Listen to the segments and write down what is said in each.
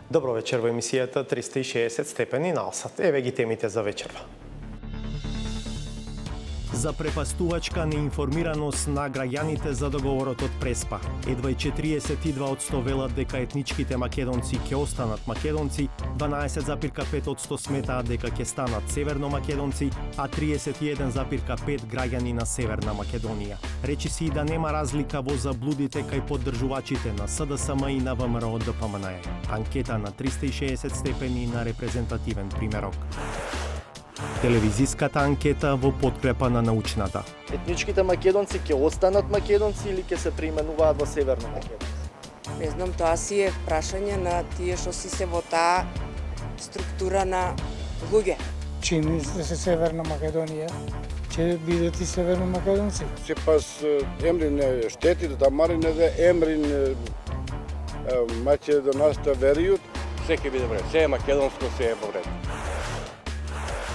Добро вечер во емисијата 360 степени на Алсат. Еве ги темите за вечерва. За препастувачка неинформираност на граѓаните за договорот од Преспа. Едва и 42% велат дека етничките македонци ќе останат македонци, 12,5% сметаат дека ќе станат северно-македонци, а 31,5% граѓани на Северна Македонија. Речи си и да нема разлика во заблудите кај поддржувачите на СДСМ и на ВМРО ДПМНЕ. Анкета на 360 степени на репрезентативен примерок. Телевизиската анкета во подкрепа на научната. Етничките македонци ќе останат македонци или ќе се преименуваат во северно македонци? Не знам, тоа си е прашање на тие што си се во таа структура на луѓе. Чини се Северна Македонија, ќе бидат и северно македонци. Сепас емрин штетите да марине да емрин македонаста веријут. Се ќе биде вред, се е македонско, се е вред.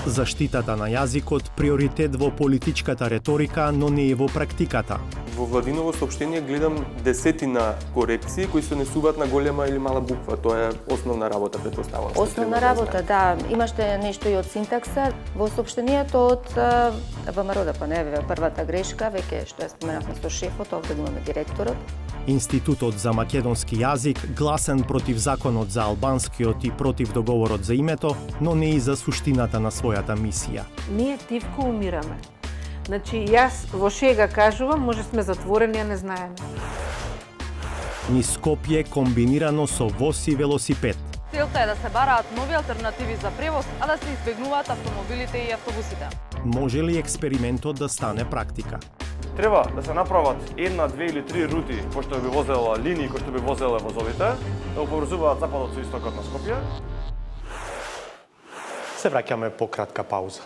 Заштитата на јазикот приоритет во политичката реторика, но не и во практиката. Во владиново соопштение гледам десетина корекции кои се несуваат на голема или мала буква. Тоа е основна работа, претпоставувам. Основна работа, да. Имаше нешто и од синтакса. Во соопштението од ВМРО ДПМНЕ, првата грешка, веќе што ја споменавме со шефот, овде го имаме директорот. Институтот за македонски јазик гласен против законот за албанскиот и против договорот за името, но не и за суштината на својата мисија. Ние тивко умираме. Значи, јас во шега кажувам, може сме затворени, а не знаеме. Низ Скопје комбинирано со воз и велосипед. Целта е да се бараат нови алтернативи за превоз, а да се избегнуваат автомобилите и автобусите. Може ли експериментот да стане практика? Треба да се направат една, две или три рути кои што би возела линии, кои што би возеле возовите, да поврзуваат западот со истокот на Скопје. Се враќаме по кратка пауза.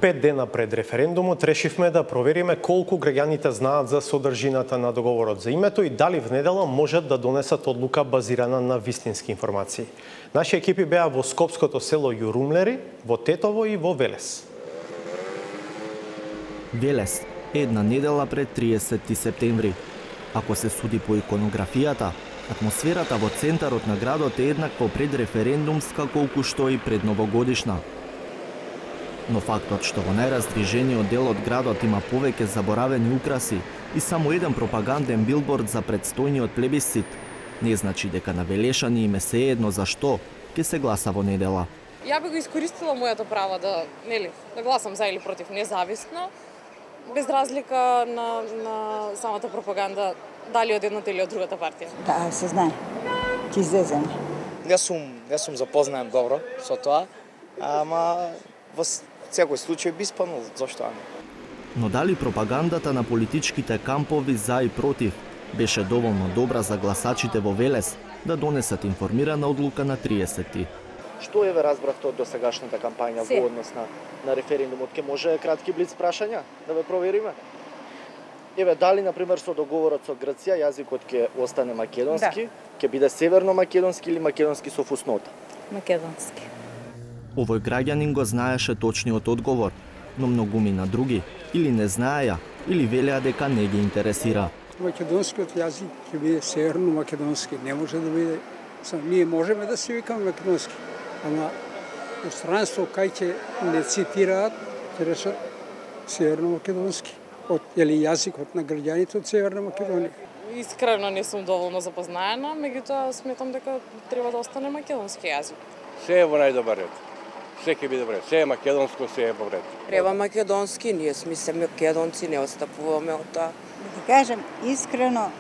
Пет дена пред референдумот решивме да провериме колку граѓаните знаат за содржината на договорот за името и дали внедела можат да донесат одлука базирана на вистински информации. Наши екипи беа во скопското село Јурумлери, во Тетово и во Велес. Велес, една недела пред 30 септември. Ако се суди по иконографијата, атмосферата во центарот на градот е еднакво предреферендумска колку што и предновогодишна. Но фактот што во најраздвижениот дел од градот има повеќе заборавени украси и само еден пропаганден билборд за предстојниот плебисцит, не значи дека на велешани им е сеедно за што ќе се гласа во недела. Ја би го искористила моето право да гласам за или против независно, без разлика на самата пропаганда, дали од едната или од другата партија. Да, се знае. Ќе излеземе. Јас сум запознаен добро со тоа, ама во секој случај би спанул, зашто не? Но дали пропагандата на политичките кампови за и против беше доволно добра за гласачите во Велес да донесат информирана одлука на 30-ти? Што еве разбравте од досегашната кампања во однос на референдумот? Ке може кратки блиц прашања да ве провериме? Еве, дали, например, со договорот со Грција јазикот ќе остане македонски, ќе биде северно-македонски или македонски со фуснота? Македонски. Овој граѓанин го знаеше точниот одговор, но многумина други или не знаеја, или велеа дека не ги интересира. Македонскиот јазик ќе биде северно-македонски, не може да биде. Ние можеме да се викаме македонски, ама во странство кај ќе не цитираат, ќе речат северно-македонски, јазикот на граѓаните од Северна Македонија. Искрено не сум доволно запознаена, меѓутоа сметам дека треба да остане македонски јазик. Се е во најдобар ред. Се ќе биде вред. Се е македонско, се е во ред. Треба македонски, ние сме македонци, не отстапуваме од тоа. Да кажем искрено,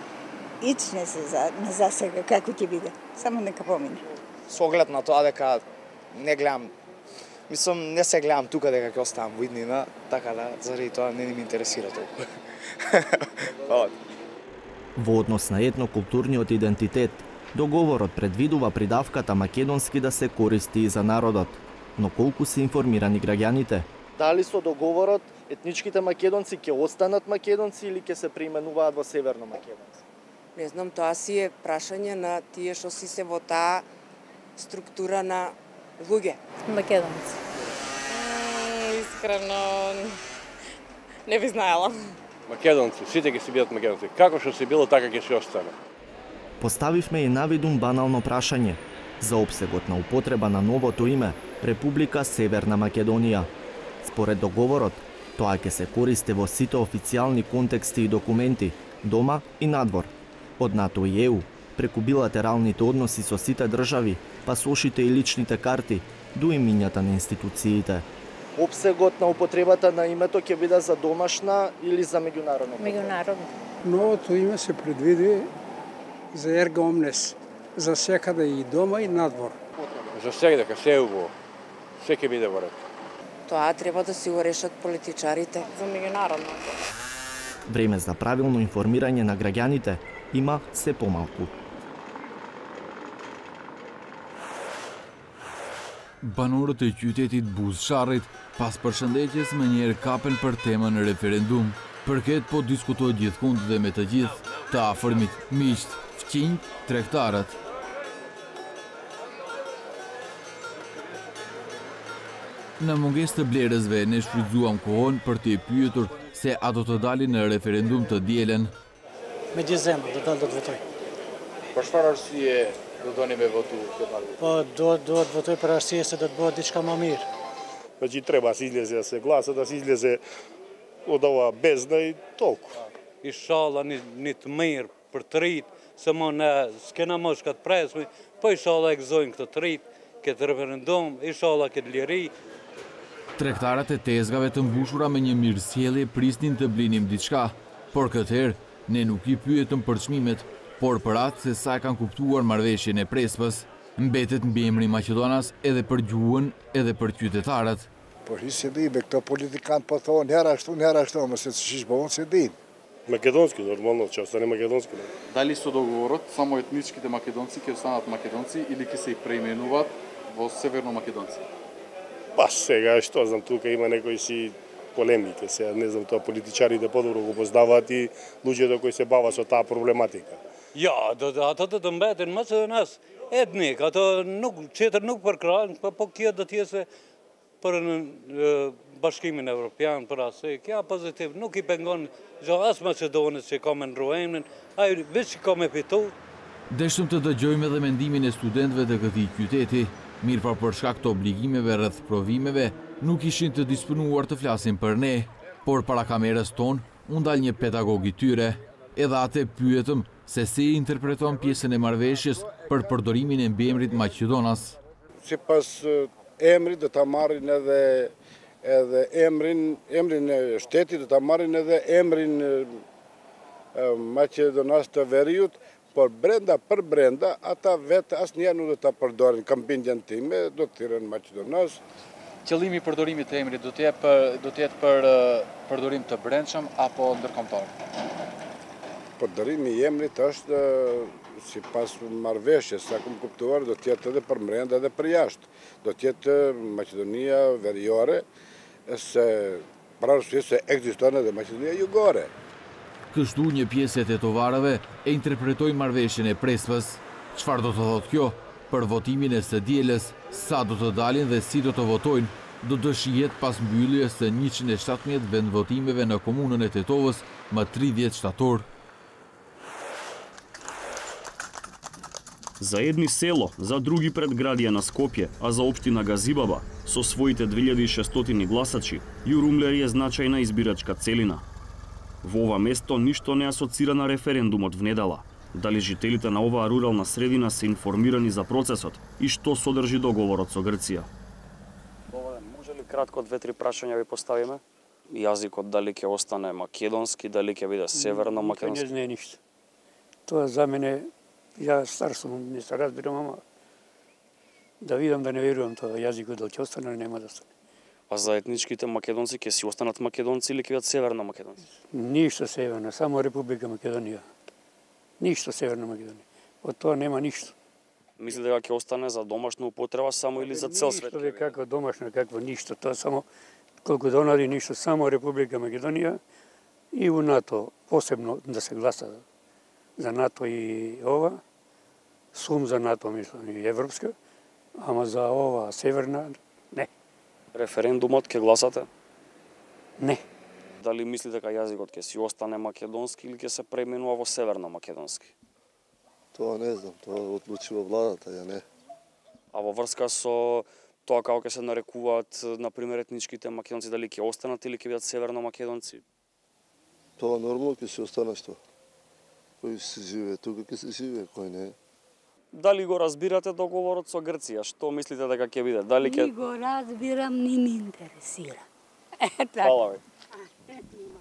ичне се за сега како ќе биде. Само нека помине. Со оглед на тоа дека не гледам, не се гледам тука дека ќе оставам во иднина, така да заради тоа не ми интересира толку. Во однос на етнокултурниот идентитет, договорот предвидува придавката македонски да се користи и за народот. Но колку се информирани граѓаните? Дали со договорот етничките македонци ќе останат македонци или ќе се преименуваат во северно македонци? Не знам, тоа си е прашање на тие што си се во таа структура на луѓе. Македонци. Искрено не би знаела. Македонци, сите ќе си бидат македонци. Како што си било, така ќе си остане. Поставивме и навидум банално прашање за опсегот на употреба на новото име Република Северна Македонија. Според договорот, тоа ќе се користи во сите официјални контексти и документи, дома и надвор, од НАТО и ЕУ, преку билатералните односи со сите држави, пасошите и личните карти, до имињата на институциите. Опсегот на употребата на името ќе биде за домашна или за меѓународно? Меѓународно. Новото име се предвиди за ерга омнес, за секаде и дома и надвор. За сега дека се уго, се ќе биде во ред. Тоа треба да си го решат политичарите. За меѓународно. Време за правилно информирање на граѓаните има се помалку. Banorët e qytetit buzësharrit pas përshëndetjes me njerë kapen për temën e referendum. Përket po diskutohet gjithkund dhe me të gjithë, të afërmit, miqt, fqinjt, tregtarët. Në mungesë të blerësve ne shfrytzuam kohën për t'i pyetur se a do të dalin në referendum të dielen. Me gjithë zemër, do dalë do të votoj. Për çfarë arsye do doni me votu këtë marrë? Po do të votoj për arsye se do të bëhet diçka më mirë. Значи треба да се излезе да се гласа, да се излезе од ова бездна и толку. Inshallah një të mirë për të rritë, se më ne s'kena më shka të presme, po inshallah e gëzojnë këtë të rritë, këtë referendum, inshallah këtë liri. Tregtarët e tezgave të mbushura me një mirësjellje prisnin të blinim diçka, por këtëherë ne nuk i pyetëm për çmimet, por për atë se sa e kanë kuptuar marrëveshjen e Prespës. Mbetet mbiemri Maqedonas edhe për gjuhën edhe për qytetarët. Po si di, me këto politikanë po thonë herë ashtu, më se ç'ish bëvon se di. Македонски, нормално, ќе остане македонски. Дали со договорот само етничките македонци ќе останат македонци или ќе се и преименуваат во северно македонци? Па сега, што знам, тука има некои си полемики, сега не знам, тоа политичарите подобро го познаваат и луѓето кои се бават со таа проблематика. Ja, ata do të mbeten më së nas etnik, ato nuk çetër nuk përkrajnë, po kjo do të jetë për Bashkimin Evropian, për asaj, kjo pozitiv, nuk I pengon as Maqedonës që ka me ndruajmën, ai veç ka me fitu. Deshtëm të dëgjojmë edhe mendimin e studentëve të këtij qyteti, mirë për shkak të obligimeve rreth provimeve, nuk ishin të disponuar të flasin për ne, por para kamerës tonë u ndal një pedagog I tyre, edhe atë pyetëm se si interpreton pjesën e marrëveshjes për përdorimin e mbiemrit Maqedonas. Sipas emrit do ta marrin edhe emrin e shtetit, do ta marrin edhe emrin Maqedonas të Veriut, por për brenda, ata vetë asnjëherë nuk do ta përdorin. Kampinjën time do të thirrën Maqedonas. Qëllimi I përdorimit të emrit do të jetë për përdorim të brendshëm apo ndërkombëtar? Përdorimi I emrit është sipas marrëveshjes, sa kam kuptuar, do të jetë edhe për brenda edhe për jashtë. Do të jetë Maqedonia Veriore, se për arsye se ekziston edhe Maqedonia Jugore. Kështu një pjesë e tetovarëve e interpretoi marrëveshjen e Prespës. Çfarë do të thotë kjo për votimin e së dielës, sa do të dalin dhe si do të votojnë, do të shihet pas mbylljes së 117 vendvotimeve në komunën e Tetovës më 30 shtator. За едни село, за други предградија на Скопје, а за општина Газибаба, со своите 2600 гласачи, Јурумлер е значајна избирачка целина. Во ова место ништо не асоцира на референдумот внедела. Дали жителите на оваа рурална средина се информирани за процесот и што содржи договорот со Грција? Може ли кратко 2-3 прашања ви поставиме? Јазикот дали ќе остане македонски, дали ќе биде северно македонски? Не знае ништо. Тоа за мене, ја стар сум, не се разбирам, ама да видам да не верувам тоа јазикот дали ќе остане или нема да остане. А за етничките македонци ќе си останат македонци или ќе бидат северно македонци? Ништо северно, само Република Македонија. Ништо северна Македонија. Од тоа нема ништо. Мисли дека ќе остане за домашна употреба само или за цел свет? Ништо како домашна, какво ништо, тоа само колку донари ништо, само Република Македонија и у НАТО, посебно да се гласа за НАТО и ова, сум за НАТО, мислам, и Европска, ама за ова северна, не. Референдумот ќе гласате? Не. Дали мислите дека јазикот ќе си остане македонски или ќе се преименува во северно македонски? Тоа не знам, тоа одлучува владата, ја не. А во врска со тоа како ќе се нарекуваат, например, етничките македонци, дали ќе останат или ќе бидат северно македонци? Тоа нормално ќе се остане што. Кој се живее тука, ќе се живее, кој не. Дали го разбирате договорот со Грција? Што мислите дека ќе биде? Дали ќе... Ни го разбирам, ни ми интересира. Фала ви.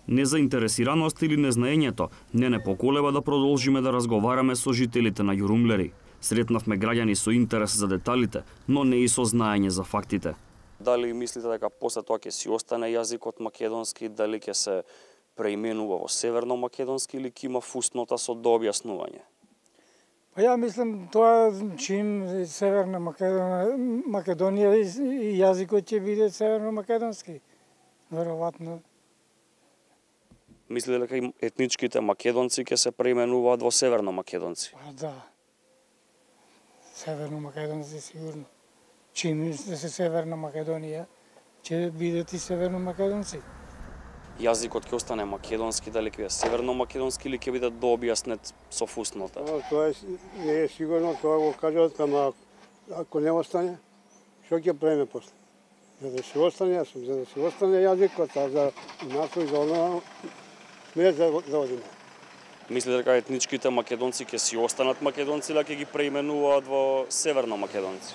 Незаинтересираност или незнаењето не поколеба да продолжиме да разговараме со жителите на Јурумлери. Сретнавме граѓани со интерес за деталите, но не и со знаење за фактите. Дали мислите дека после тоа ќе си остане јазикот македонски, дали ќе се преименува во северно македонски или ќе има фуснота со дообјаснување? Па ја мислам тоа чин Северна Македонија и јазикот ќе биде северно македонски. Веројатно. Мислите дека етничките македонци ќе се преименуваат во северно македонци? Па да. Северно македонци сигурно. Чин се Северна Македонија ќе бидат и северно македонци. Јазикот ќе остане македонски, дали ќе биде северно македонски или ќе биде дообјаснет со фуснота? Тоа не е сигурно, тоа го кажат, ама ако не остане, што ќе правиме после? За да се остане, за да се остане јазикот, а за НАТО и за оно не за одиме. Мислите дека етничките македонци ќе си останат македонци или ќе ги преименуваат во северно македонци?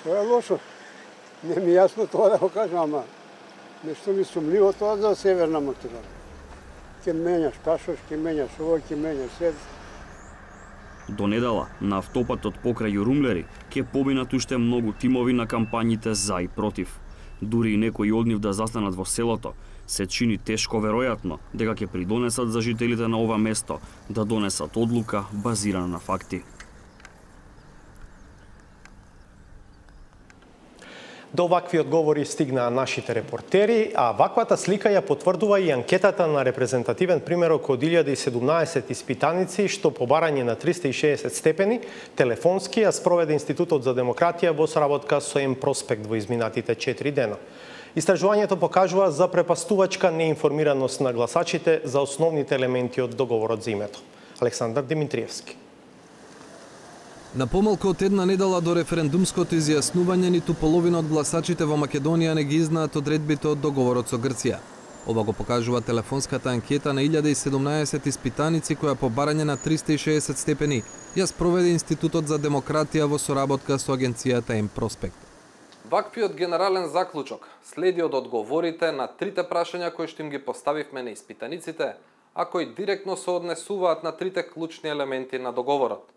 Тоа е лошо. Не ми јасно тоа да го кажам, ама нешто ми сумливо тоа за северна Македонија. Ќе менјаш кашош, ќе менјаш ово, ќе менјаш свет. До недела, на автопатот покрај Јурумлери, ќе поминат уште многу тимови на кампањите за и против. Дури и некои од нив да застанат во селото, се чини тешко веројатно дека ќе придонесат за жителите на ова место да донесат одлука базирана на факти. До вакви одговори стигнаа нашите репортери, а ваквата слика ја потврдува и анкетата на репрезентативен примерок од 1017 испитаници, што по барање на 360 степени, телефонски ја спроведе Институтот за демократија во соработка со М-Проспект во изминатите 4 дена. Истражувањето покажува за препастувачка неинформираност на гласачите за основните елементи од договорот за името. Александар Димитриевски. На помалку од една недела до референдумското изјаснување, ниту половина од гласачите во Македонија не ги знаат одредбите од договорот со Грција. Ова го покажува телефонската анкета на 1017 испитаници која по барање на 360 степени ја спроведе Институтот за демократија во соработка со агенцијата М-Проспект. Ваквиот генерален заклучок следи од одговорите на трите прашања кои што им ги поставивме на испитаниците, а кои директно се однесуваат на трите клучни елементи на договорот.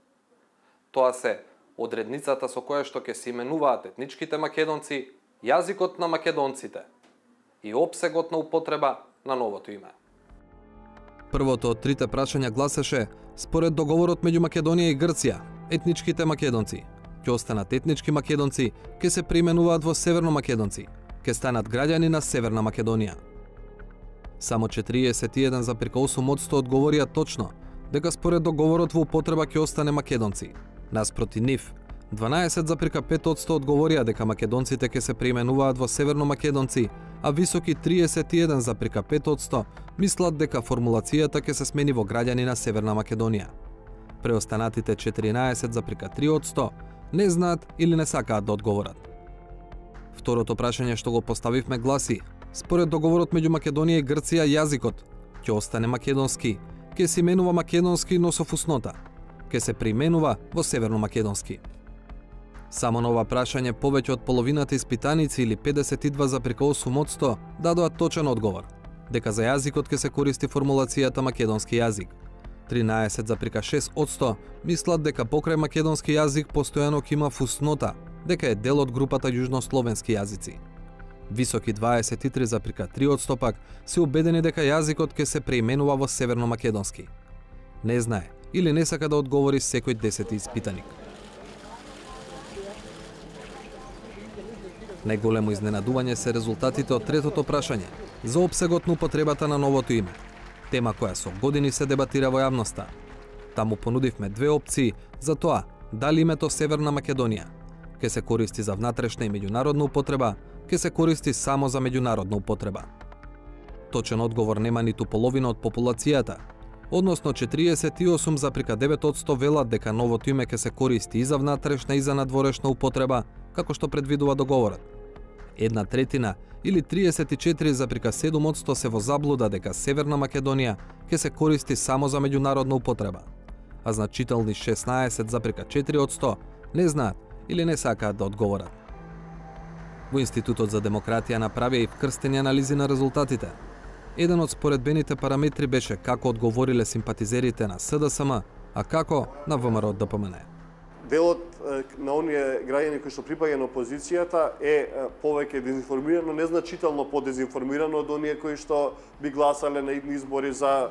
Тоа се одредницата со која што ќе се именуваат етничките македонци, јазикот на македонците и опсегот на употреба на новото име. Првото од трите прашања гласеше: според договорот меѓу Македонија и Грција, етничките македонци ќе останат етнички македонци, ќе се преименуваат во северно македонци, ќе станат граѓани на Северна Македонија. Само 41,8% одговорија точно дека според договорот во употреба ќе остане македонци. Наспроти нив, 12,5% одговорија дека македонците ќе се преименуваат во северно македонци, а високи 31,5% мислат дека формулацијата ќе се смени во граѓани на Северна Македонија. Преостанатите 14,3% не знаат или не сакаат да одговорат. Второто прашање што го поставивме гласи: според договорот меѓу Македонија и Грција, јазикот ќе остане македонски, ќе се именува македонски, но со фуснота, ќе се применува во северно македонски. Само на ова прашање повеќе од половината испитаници или 52,8% дадоа точен одговор, дека за јазикот ќе се користи формулацијата македонски јазик. 13,6% мислат дека покрај македонски јазик постојано ќе има фуснота, дека е дел од групата јужнословенски јазици. Високи 23,3% пак се убедени дека јазикот ќе се преименува во северно македонски. Не знае или не сака да одговори секој 10 испитаник. Најголемо изненадување се резултатите од третото прашање за опсегот на употребата на новото име, тема која со години се дебатира во јавноста. Таму понудивме две опции за тоа дали името Северна Македонија ке се користи за внатрешна и меѓународна употреба, ке се користи само за меѓународна употреба. Точен одговор нема ниту половина од популацијата, односно 48,9% велат дека новото име ке се користи и за внатрешна и за надворешна употреба, како што предвидува договорот. 1/3 или 34,7% се во заблуда дека Северна Македонија ќе се користи само за меѓународна употреба, а значителни 16,4% не знаат или не сакаат да одговорат. Во Институтот за демократија направија и вкрстени анализи на резултатите. Еден од споредбените параметри беше како одговориле симпатизерите на СДСМ, а како на ВМРО ДПМН. Делот на оние граѓани кои што припаѓа на опозицијата е повеќе дезинформирано, незначително подезинформирано од оние кои што би гласале на избори за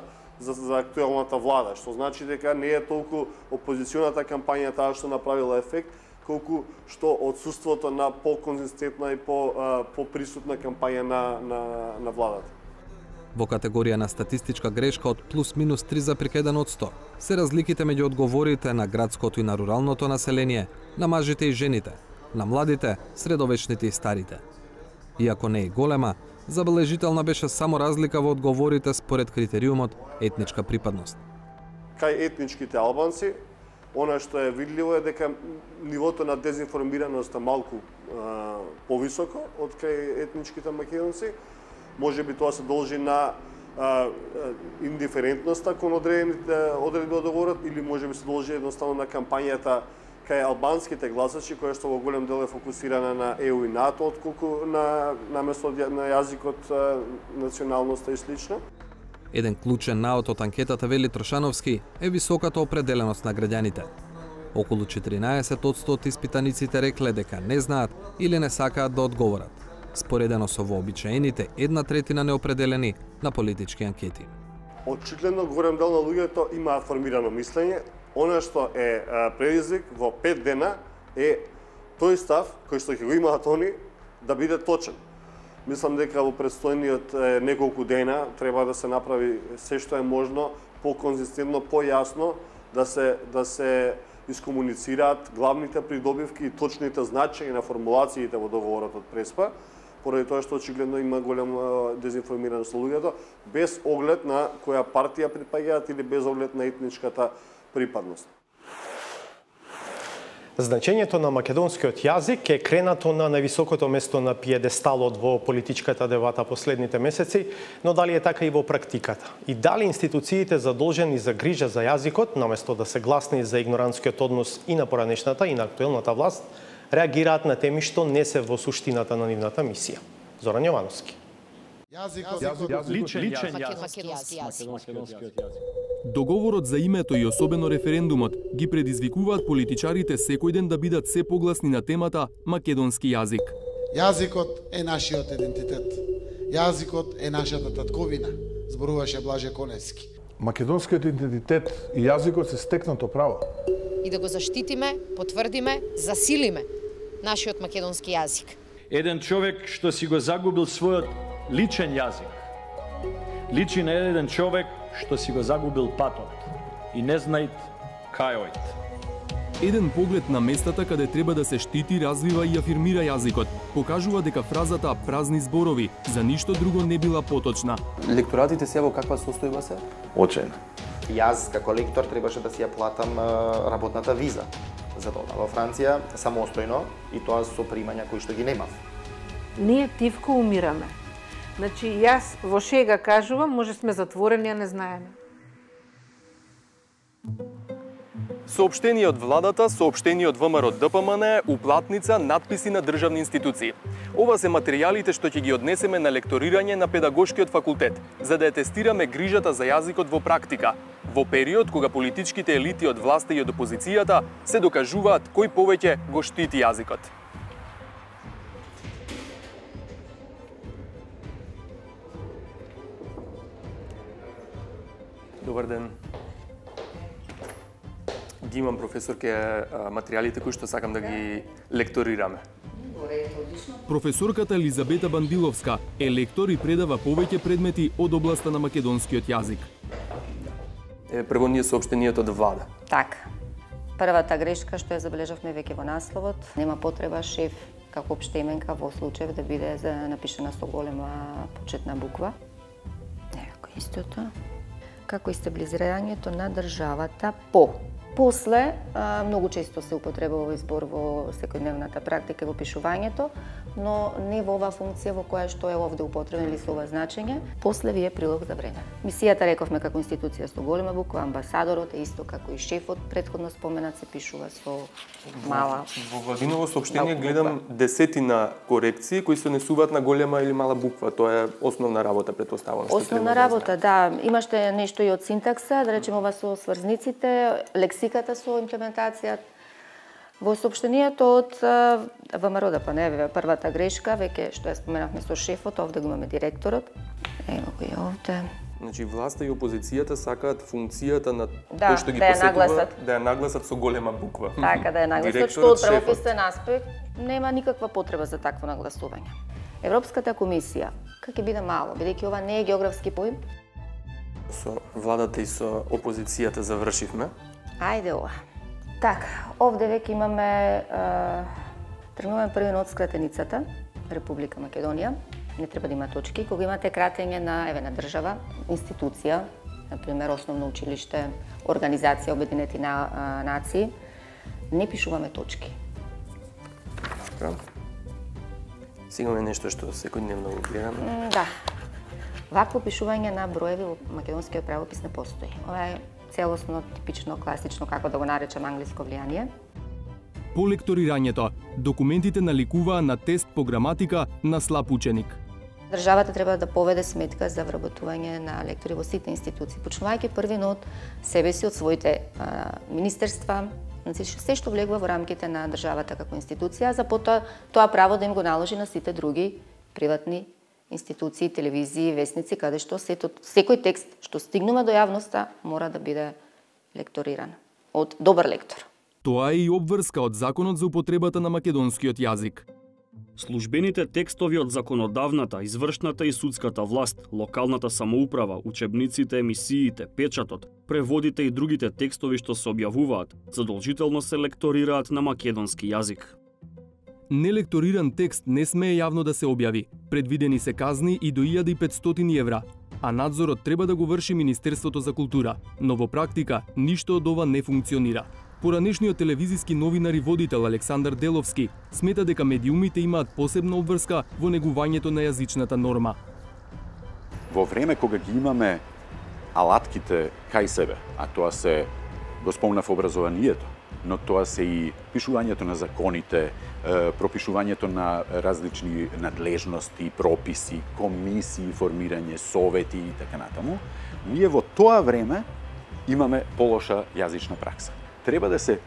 актуелната влада, што значи дека не е толку опозиционата кампања таа што направила ефект, колку што отсуството на по-конзистентна и по-присутна кампања на владата. Во категорија на статистичка грешка од плюс-минус 3,1% се разликите меѓу одговорите на градското и на руралното население, на мажите и жените, на младите, средовечните и старите. Иако не е голема, забележителна беше само разлика во одговорите според критериумот етничка припадност. Кај етничките албанци, она што е видливо е дека нивото на дезинформираност е малку повисоко од кај етничките македонци. Може би тоа се должи на индиферентноста кон одредените одредби од договорот, или може би се должи едноставно на кампањата кај албанските гласачи, која што во голем дел е фокусирана на ЕУ и НАТО, отколку на место на јазикот, националноста и слично. Еден клучен наод од анкетата, вели Трошановски, е високата определеност на граѓаните. Околу 14% од испитаниците рекле дека не знаат или не сакаат да одговорат, споредено со вообичаените 1/3 неопределени на политички анкети. Очигледно голем дел на луѓето имаат формирано мислење. Она што е предизвик во 5 дена е тој став кој што ќе го имаат они да биде точен. Мислам дека во предстојниот неколку дена треба да се направи се што е можно по-конзистентно, појасно да се искомуницираат главните придобивки и точните значења на формулациите во договорот од Преспа, поради тоа што очигледно има голема дезинформираност на луѓето, без оглед на која партија припаѓаат или без оглед на етничката припадност. Значењето на македонскиот јазик е кренато на највисокото место на пиедесталот во политичката дебата последните месеци, но дали е така и во практиката? И дали институциите задолжени за грижа за јазикот, наместо да се гласни за игнорантскиот однос и на поранешната и на актуелната власт, реагираат на теми што не се во суштината на нивната мисија? Зоран Јовановски. Личен јазик. Договорот за името и особено референдумот ги предизвикуваат политичарите секој ден да бидат се погласни на темата македонски јазик. Јазикот е нашиот идентитет. Јазикот е нашата татковина, зборуваше Блаже Коневски. Македонскиот идентитет и јазикот се стекнато право. И да го заштитиме, потврдиме, засилиме нашиот македонски јазик. Еден човек што си го загубил својот личен јазик, личи на еден човек што си го загубил патот и не знаит кај ојд. Еден поглед на местата каде треба да се штити, развива и афирмира јазикот, покажува дека фразата празни зборови за ништо друго не била поточна. Лекторатите се во каква состојба се? Очајно. Јас како лектор требаше да си ја платам работната виза за тоа во Франција самостојно и тоа со примања кои што ги немав. Ние тивко умираме. Значи, јас во шега кажувам, може сме затворени, а не знаеме. Соопштение од владата, соопштение од ВМРО ДПМН, уплатница, надписи на државни институции. Ова се материјалите што ќе ги однесеме на лекторирање на педагошкиот факултет, за да ја тестираме грижата за јазикот во практика, во период кога политичките елити од власта и од опозицијата се докажуваат кој повеќе го штити јазикот. Добар ден. Ги имам, професорке, материјалите кои што сакам да ги лекторираме. Професорката Елизабета Бандиловска е лектор и предава повеќе предмети од областа на македонскиот јазик. Прво ние соопштенијето од влада. Така. Првата грешка што ја забележавме веќе во насловот, нема потреба шеф како општа именка во случај да биде напишана со голема почетна буква. Еко истото. Како и стабилизирањето на државата по. После, многу често се употребува овој збор во секојдневната практика во пишувањето, но не во оваа функција во која што е овде употребен или со ова значење. После вие прилог за време. Мисијата рековме како институција со голема буква, амбасадорот е исто како и шефот претходно споменат се пишува со мала. Во владиново соопштение гледам десетина корекции кои се однесуваат на голема или мала буква. Тоа е основна работа, претпоставувам. Основна работа, да. Имаше нешто и од синтакса, да речеме ова со сврзниците, лексиката со имплементација. Во соопштението од ВМРО ДПМНЕ, првата грешка, веќе што ја споменавме со шефот, овде го имаме директорот. Ево го и овде. Значи, власта и опозицијата сакаат функцијата на да, тој што ги да посетува, да ја нагласат со голема буква. Така, да ја нагласат, што од правописен аспект нема никаква потреба за такво нагласување. Европската комисија, как ќе биде мало, бидејќи ова не е географски поим? Со владата и со опозицијата завршивме. Ајде ова. Така, овде веќе имаме, тргнуваме први од скратеницата, Република Македонија. Не треба да има точки. Кога имате кратење на на држава, институција, например основно училиште, организација Обединети нации, не пишуваме точки. Така. Сега имаме нешто што секојдневно го гледаме. Да. Вакво пишување на броеви во македонскиот правопис не постои. Ова е целосно, типично, класично, како да го наречам, англиско влијание. По лекторирањето, документите наликуваа на тест по граматика на слаб ученик. Државата треба да поведе сметка за вработување на лектори во сите институции, почнувајќи први од себе си, од своите министерства, се што влегува во рамките на државата како институција, за потоа тоа право да им го наложи на сите други приватни институции, телевизии, весници, каде што секој текст што стигнува до јавноста мора да биде лекториран од добар лектор. Тоа е и обврска од Законот за употребата на македонскиот јазик. Службените текстови од законодавната, извршната и судската власт, локалната самоуправа, учебниците, емисиите, печатот, преводите и другите текстови што се објавуваат, задолжително се лекторираат на македонски јазик. Нелекториран текст не смее јавно да се објави. Предвидени се казни и до 1500 евра, а надзорот треба да го врши Министерството за култура, но во практика ништо од ова не функционира. Поранешниот телевизиски новинар и водител Александар Деловски смета дека медиумите имаат посебна обврска во негувањето на јазичната норма. Во време кога ги имаме алатките кај себе, а тоа се го спомнав образованието, но тоа се и пишувањето на законите, пропишувањето на различни надлежности, прописи, комисии, формирање совети и така натаму, ние во тоа време имаме полоша јазична пракса. Треба да се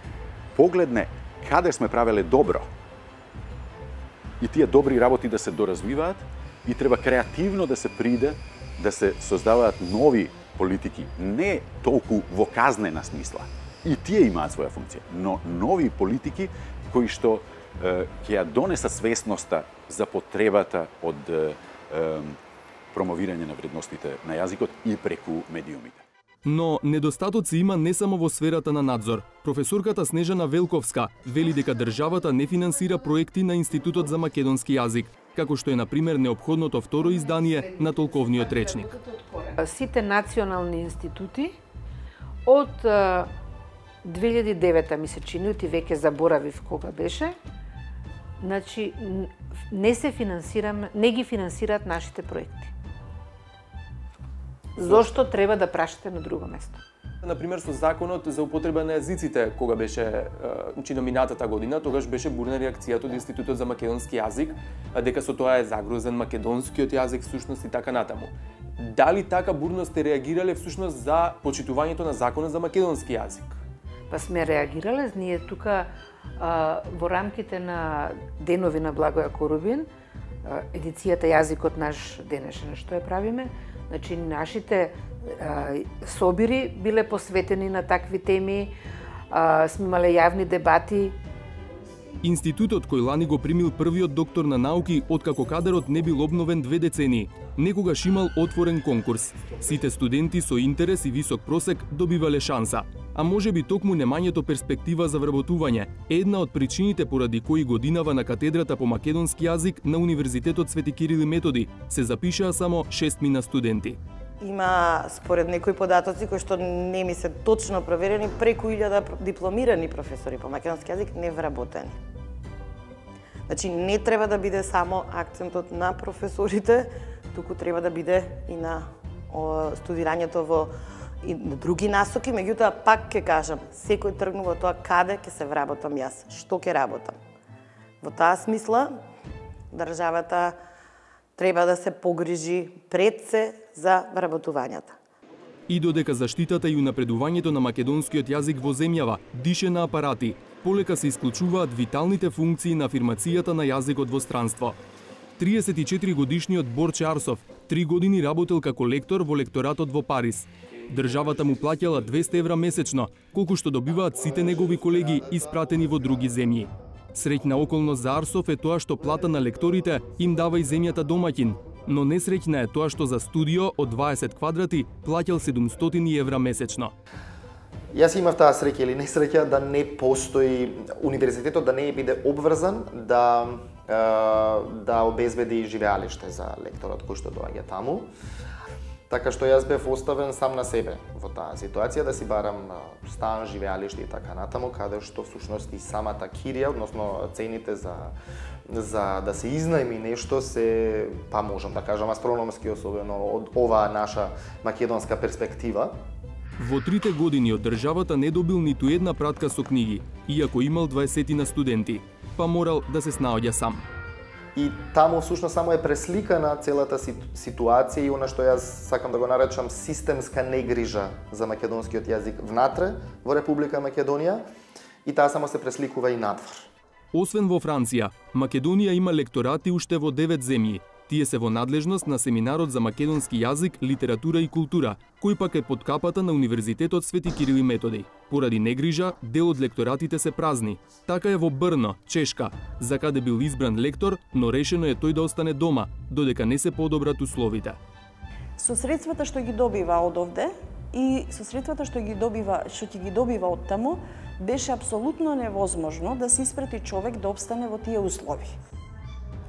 погледне каде сме правеле добро и тие добри работи да се доразвиваат и треба креативно да се приде да се создаваат нови политики, не толку во казнена смисла. И тие имаат своја функција, но нови политики кои што ќе ја донесат свесноста за потребата од промовирање на вредностите на јазикот и преку медиумите. Но недостатоци има не само во сферата на надзор. Професорката Снежана Велковска вели дека државата не финансира проекти на Институтот за македонски јазик, како што е на пример неопходното второ издание на толковниот речник. Сите национални институти од 2009 ми се чини, оти веќе заборавив кога беше, значи не ги финансираат нашите проекти. Зошто треба да прашате на друго место? Например, со законот за употреба на јазиците, кога беше чина минатата година, тогаш беше бурна реакцијата од Институтот за македонски јазик, дека со тоа е загрозен македонскиот јазик всушност и така натаму. Дали така бурно сте реагирале всушност за почитувањето на законот за македонски јазик? Па сме реагирале, ние тука во рамките на денови на Благоја Корубин, едицијата Јазикот наш денешен што ја правиме, значи нашите собири биле посветени на такви теми, сме имале јавни дебати Институтот кој лани го примил првиот доктор на науки откако кадрот не бил обновен 2 децении, некогаш имал отворен конкурс. Сите студенти со интерес и висок просек добивале шанса, а можеби токму немањето перспектива за вработување е една од причините поради кои годинава на катедрата по македонски јазик на Универзитетот Свети Кирил и Методи се запишаа само 6 студенти. Има, според некои податоци кои што не ми се точно проверени, преку 1000 дипломирани професори по македонски јазик невработени. Значи, не треба да биде само акцентот на професорите, туку треба да биде и на студирањето во и на други насоки, меѓутоа пак ќе кажам, секој тргнува тоа каде ќе се вработам јас, што ќе работам. Во таа смисла, државата треба да се погрижи пред се за вработувањата. И додека заштитата и унапредувањето на македонскиот јазик во земјава дише на апарати, полека се исклучуваат виталните функции на афирмацијата на јазикот во странство. 34 годишниот Борче Арсов 3 години работел како лектор во лекторатот во Париз. Државата му плаќала 200 евра месечно, колку што добиваат сите негови колеги испратени во други земји. Среќна околност за Арсов е тоа што плата на лекторите им дава и земјата домаќин, но несреќна е тоа што за студио од 20 квадрати плаќал 700 евра месечно. Јас имав таа среќа или несреќа да не постои универзитетот да не биде обврзан да обезбеди живеалиште за лекторот кој што доаѓа таму. Така што јас бев оставен сам на себе во таа ситуација да си барам стан, живеалиште и така натаму, каде што всушност и самата кирија, односно цените за да се изнајми нешто се, па можам да кажам, астрономски, особено од оваа наша македонска перспектива. Во 3 години од државата не добил ниту една пратка со книги, иако имал 20 студенти, па морал да се снаоѓа сам. И таму всушност само е пресликана целата ситуација и она што јас сакам да го наречам системска негрижа за македонскиот јазик внатре во Република Македонија и таа само се пресликува и надвор. Освен во Франција, Македонија има лекторати уште во 9 земји. Тие се во надлежност на Семинарот за македонски јазик, литература и култура, кој пак е под капата на Универзитетот Свети Кирил и Методи. Поради негрижа, дел од лекторатите се празни. Така е во Брно, Чешка, за каде бил избран лектор, но решено е тој да остане дома, додека не се подобрат условите. Со средствата што ги добива од овде и со средствата што ќе ги добива од таму, беше апсолутно невозможно да се испрати човек да обстане во тие услови.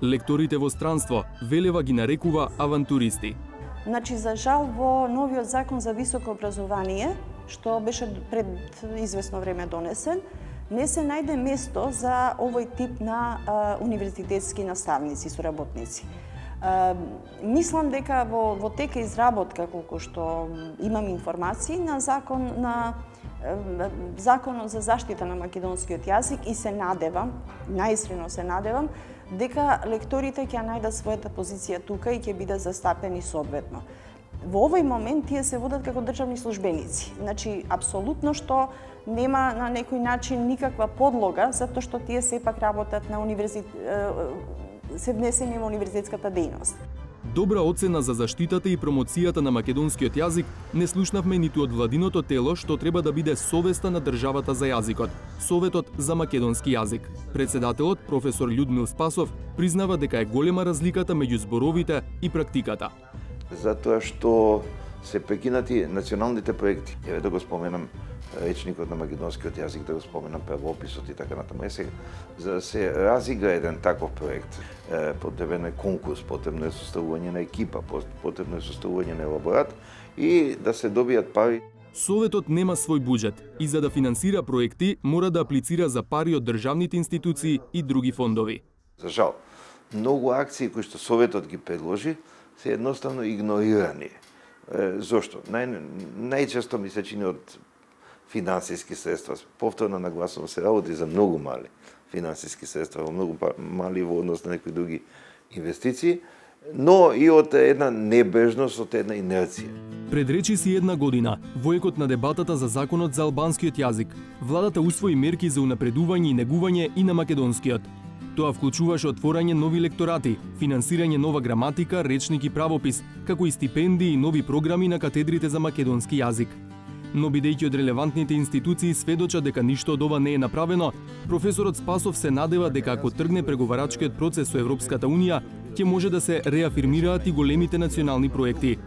Лекторите во странство Велева ги нарекува авантуристи. Значи, за жал, во новиот закон за високо образование, што беше пред известно време донесен, не се најде место за овој тип на универзитетски наставници, соработници. Мислам дека во тека изработка, колку што имам информации, на Законот за заштита на македонскиот јазик и се надевам, најисkreno се надевам, дека лекторите ќе најдат својата позиција тука и ќе бидат застапени соодветно. Во овој момент тие се водат како државни службеници. Значи, апсолутно што нема на некој начин никаква подлога, затоа што тие сепак работат на се внесени во универзитетската дејност. Добра оцена за заштитата и промоцијата на македонскиот јазик не слушнавме ниту од владиното тело што треба да биде совеста на државата за јазикот, Советот за македонски јазик. Председателот, професор Људмил Спасов, признава дека е голема разликата меѓу зборовите и практиката. Затоа што се прекинати националните проекти. Еве да го споменам речникот на македонскиот јазик, да го споменам правописот и така натаму. За да се разигра еден таков проект, потребен е конкурс, потребно е составување на екипа, потребно е составување на елаборат и да се добијат пари. Советот нема свој буџет и за да финансира проекти мора да аплицира за пари од државните институции и други фондови. За жал, многу акции кои што Советот ги предложи се едноставно игнорирани. Зошто? Најчесто ми се чини од финансиски средства. Повторно нагласувам, се работи за многу мали финансиски средства, многу мали во однос на некои други инвестиции, но и од една небрежност, од една инерција. Предречи си една година, во екот на дебатата за законот за албанскиот јазик, владата усвои мерки за унапредување и негување и на македонскиот. Тоа вклучуваше отворање нови лекторати, финансирање нова граматика, речник и правопис, како и стипендии и нови програми на катедрите за македонски јазик. Но бидејќи од релевантните институции сведочат дека ништо од ова не е направено, професорот Спасов се надева дека ако тргне преговарачкиот процес со Европската Унија, ќе може да се реафирмираат и големите национални проекти.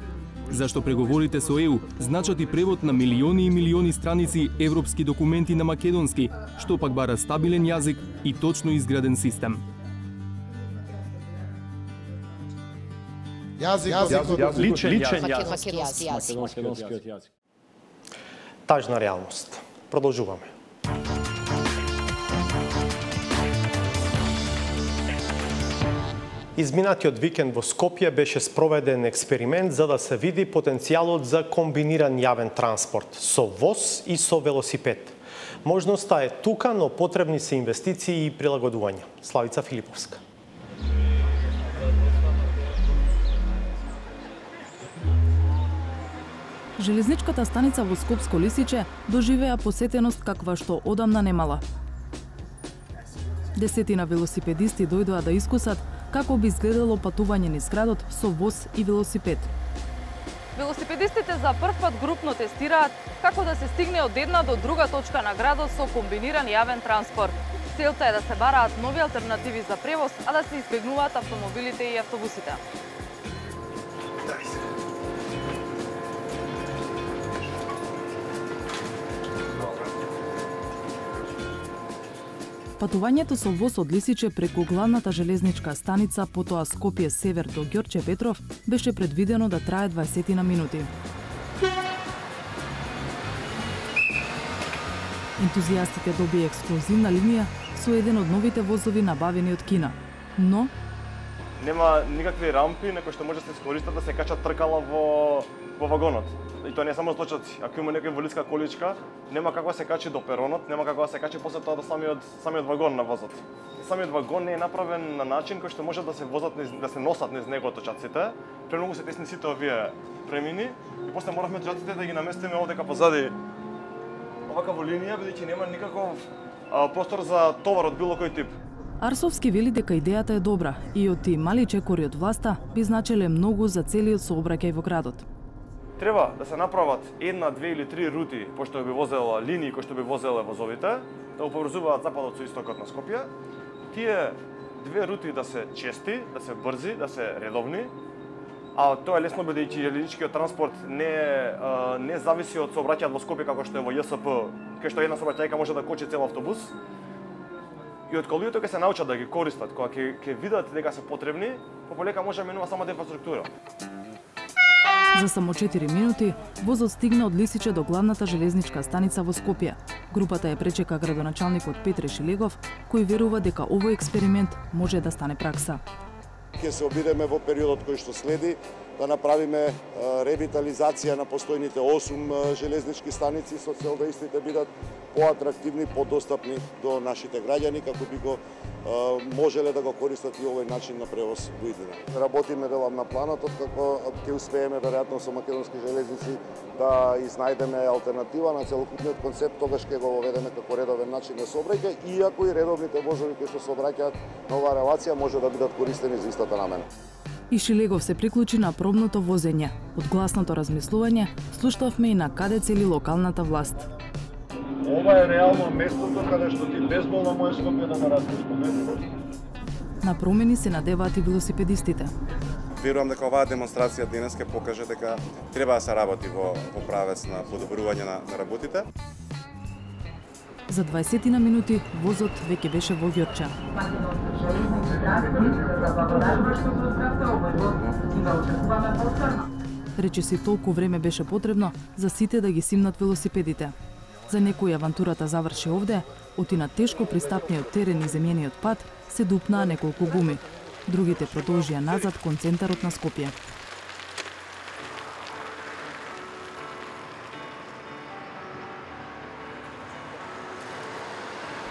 Зашто преговорите со ЕУ значат и превод на милиони и милиони страници европски документи на македонски, што пак бара стабилен јазик и точно изграден систем. Личен јазик. Тажна реалност. Продолжуваме. Изминатиот викенд во Скопје беше спроведен експеримент за да се види потенцијалот за комбиниран јавен транспорт со воз и со велосипед. Можноста е тука, но потребни се инвестиции и прилагодувања. Славица Филиповска. Железничката станица во Скопско Лисиче доживеа посетеност каква што одамна немала. Десетина велосипедисти дојдоа да искусат како би изгледало патување низ градот со воз и велосипед. Велосипедистите за прв пат групно тестираат како да се стигне од една до друга точка на градот со комбиниран јавен транспорт. Целта е да се бараат нови алтернативи за превоз, а да се избегнуваат автомобилите и автобусите. Патувањето со воз од Лисиче преку главната железничка станица, потоа Скопје север до Ѓорче Петров, беше предвидено да трае 20 минути. Ентузијастите добија ексклузивна линија со еден од новите возови набавени од Кина. Но нема никакви рампи на кои што може да се искористат да се качат тркала во вагонот. И тоа не е само случајот, ако има некоја инвалидска количка, нема како да се качи до перонот, нема како да се качи после тоа до самиот вагон на возот. Самиот вагон не е направен на начин кој што може да се возат да се носат низ него точаците. Премногу се тесни сите овие премини и после моравме точаците да ги наместиме овдека позади оваква линија, бидејќи нема никаков простор за товар од било кој тип. Арсовски вели дека идејата е добра и од тие мали чекори од власта би значеле многу за целиот сообраќај во градот. Треба да се направат една, две или три рути, пошто би возела линии кои што би возеле возовите, да го поврзуваат западот со истокот на Скопје. Тие две рути да се чести, да се брзи, да се редовни, а тоа е лесно бидејќи железничкиот транспорт не зависи од сообраќајот во Скопје како што е во ЈСП, кај што една сообраќајка може да кочи цел автобус. И од кога луѓето ќе се научат да ги користат, кога ќе видат дека се потребни, пополека може да минува самата инфраструктура. За само 4 минути, возот стигна од Лисиче до главната железничка станица во Скопје. Групата ја пречека градоначалникот Петре Шилегов, кој верува дека овој експеримент може да стане пракса. Ќе се обидеме во периодот кој што следи да направиме ревитализација на постојните 8 железнички станици со цел да истите бидат поатрактивни, подостапни до нашите граѓани, како би го можеле да го користат и овој начин на превоз во иднина. Работиме делам на планот, како ќе успееме веројатно со македонски железници да изнајдеме алтернатива на целокупниот концепт, тогаш ќе го воведеме како редовен начин на сообраќај, иако и редовните возови кои што сообраќаат на оваа релација може да бидат користени за истата намена. И Шилегов се приклучи на пробното возење. Од гласното размислување слушнавме и на каде цели локалната власт. Ова е реално местото каде што ти безболно можеш Скопје да ме разпишеш. На промени се надеваат и велосипедистите. Верувам дека оваа демонстрација денес ќе покаже дека треба да се работи во правец на подобрување на работите. За 20 минути возот веќе беше во Ѓорче. Речиси толку време беше потребно за сите да ги симнат велосипедите. За некои авантурата заврши овде, оти на тешко пристапниот терен и земјениот пат се дупнаа неколку гуми. Другите продолжија назад кон центарот на Скопје.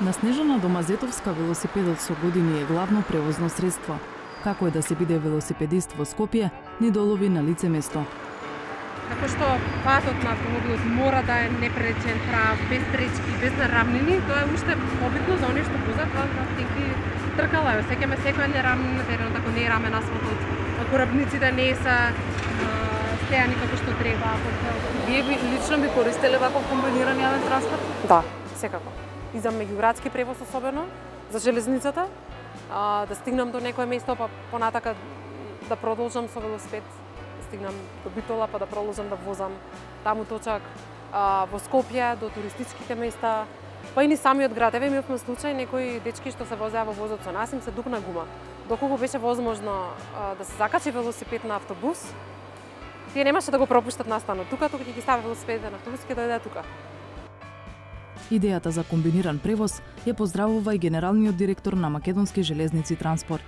На Снежана Домазетовска велосипедот со години е главно превозно средство. Како е да се биде велосипедист во Скопје, ни долови на лице место. Како што патот на автомобилот мора да е непречен, прав, без пречки, без нарамнини, тоа е уште побитно за оние што возат на тенки тркала. Сеќаме секоја нерамнина терен, ако не е рамен асфалтот, ако рабниците не се истеани како што треба. Вие лично би користеле ваков комбиниран јавен транспорт? Да, секако. И за меѓуградски превоз особено, за железницата, да стигнам до некое место, па понатака да продолжам со велосипед, да стигнам до Битола, па да продолжам да возам таму точак, во Скопје, до туристичките места, па и ни самиот град. Еве имавме случај, некои дечки што се возеа во возот со нас, им се дупна гума. Доколку беше возможно да се закачи велосипед на автобус, тие немаше да го пропуштат настанот тука, тука ќе ги стави велосипедите на автобус и ќе дојде тука. Идејата за комбиниран превоз ја поздравува и генералниот директор на Македонски железници транспорт.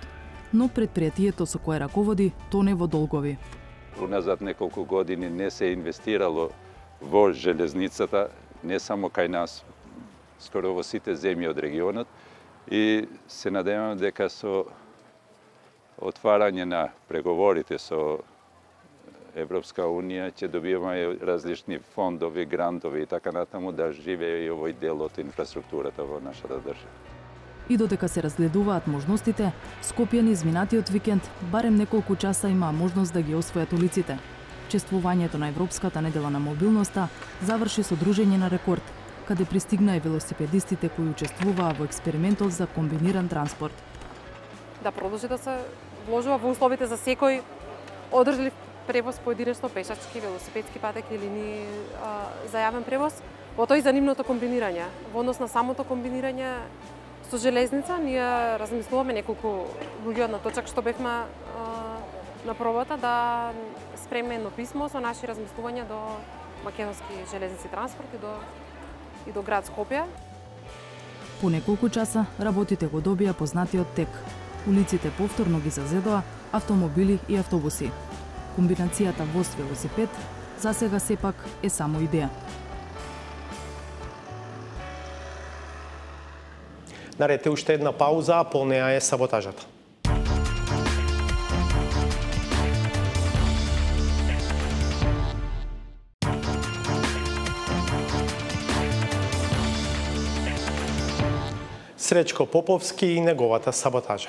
Но предпријатието со кое раководи тоне во долгови. Уназад неколку години не се инвестирало во железницата, не само кај нас, скоро во сите земји од регионот, и се надевам дека со отварање на преговорите со Европска Унија ќе добиваме различни фондови, грантови и така натаму да живее и овој дел од инфраструктурата во нашата држава. И додека се разгледуваат можностите, Скопје низ минатиот викенд барем неколку часа имаа можност да ги освојат улиците. Чествувањето на Европската недела на мобилноста заврши со дружење на рекорд, каде пристигна и велосипедистите кои учествуваа во експериментот за комбиниран транспорт. Да продолжи да се вложува во условите за секој одржлив превоз поединечно, пешачки, велосипедски патеки или линии за јавен превоз, во тој за нивното комбинирање. Во однос на самото комбинирање со железница, ние размислуваме неколку луѓе од на точак што бевме на пробата да спремиме едно писмо со наши размислувања до Македонски железници транспорт и до град Скопје. По неколку часа работите го добија познатиот тек. Улиците повторно ги зазедоа автомобили и автобуси. Комбинацијата воз-велосипед засега сепак е само идеја. Наред е уште една пауза, а по неа е саботажата. Сречко Поповски и неговата саботажа.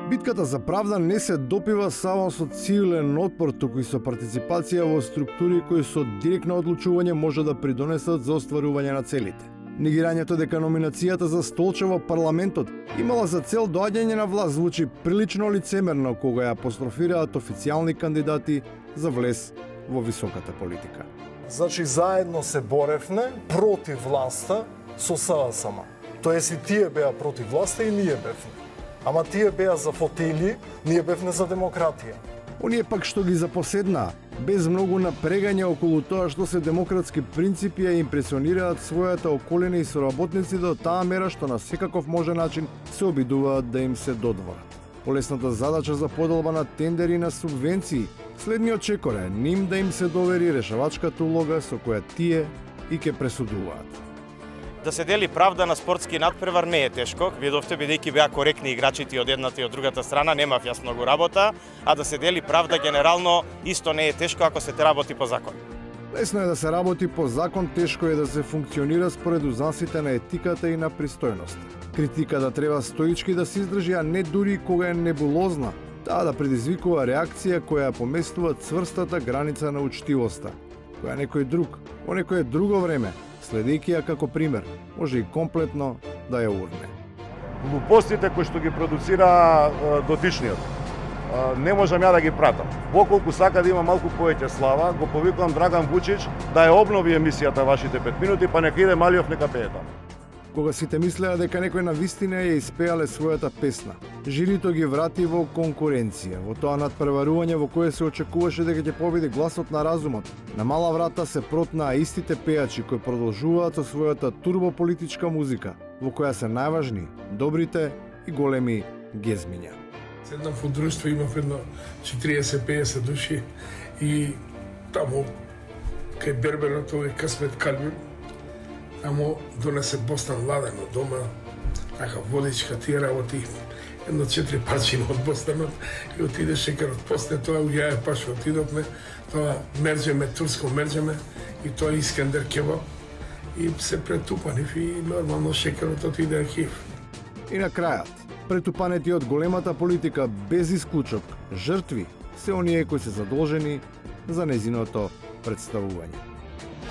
Битката за правда не се допива само со цивилен отпор, туку и со партиципација во структури кои со директно одлучување може да придонесат за остварување на целите. Негирањето дека номинацијата за столче во парламентот имала за цел доаѓање на власт звучи прилично лицемерно кога ја апострофираат официјални кандидати за влез во високата политика. Значи, заедно се боревме против власта со САСМ. Тоест и тие беа против власта и ние бевме. Ама тие беа за фотели, ние бевме за демократија. Оние пак што ги запоседнаа, без многу напрегање околу тоа што се демократски принципи ја импресионираат својата околина и соработници до таа мера што на секаков можен начин се обидуваат да им се додворат. Полесната задача за поделба на тендери на субвенции, следниот чекор е ним да им се довери решавачката улога со која тие и ќе пресудуваат. Да се дели правда на спортски надпревар не е тешко. Видовте, бидејќи беа коректни играчите од едната и од другата страна, немав јас многу работа, а да се дели правда генерално исто не е тешко ако се работи по закон. Лесно е да се работи по закон, тешко е да се функционира според узнаците на етиката и на пристојноста. Критиката треба стоички да се издржи, а не дури кога е небулозна, таа да предизвикува реакција која поместува цврстата граница на учтивоста, која некој друг, во некое друго време, следејќи ја како пример, може и комплетно да ја урне. Глупостите кои што ги продуцира дотичниот, не можам ја да ги пратам. Поколку сака да има малку повеќе слава, го повикувам Драган Вучич да ја обнови емисијата вашите 5 минути, па нека иде Малиов нека пее таму. Кога сите мислеа дека некој на вистина ја испеале својата песна, жирито ги врати во конкуренција, во тоа надпреварување во кое се очекуваше дека ќе победи гласот на разумот. На мала врата се протнаа истите пејачи кои продолжуваат со својата турбополитичка музика, во која се најважни добрите и големи гезмиња. Седнав во друштво, имав едно 40-50 души и таму кај берберот овој Касмет Калбин, тамо донесе бостан ладен од дома, така водичка, тие работи, едно 4 парчина од бостанот и отиде шекерот. После тоа у јаја паш отидовме, тоа мерџеме, турско мерџеме и тоа Искендер кебаб и се претупанив и нормално шекерот отиде архив. И на крајот, претупанети од големата политика без исклучок, жртви се оние кои се задолжени за незиното представување.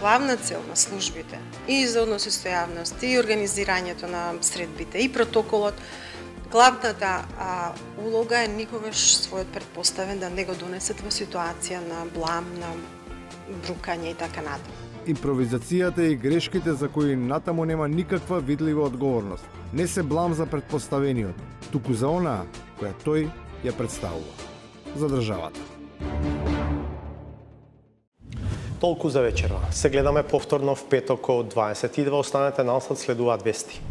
Главна цел на службите и за односи со јавност, и организирањето на средбите, и протоколот, главната улога е никогаш својот предпоставен да не го донесет во ситуација на блам, на брукање и така натаму. Импровизацијата и грешките за кои натаму нема никаква видлива одговорност не се блам за предпоставениот, туку за онаа која тој ја представува. За државата. Толку за вечерва. Се гледаме повторно в петок од 22. Останете насад, следуваат вести.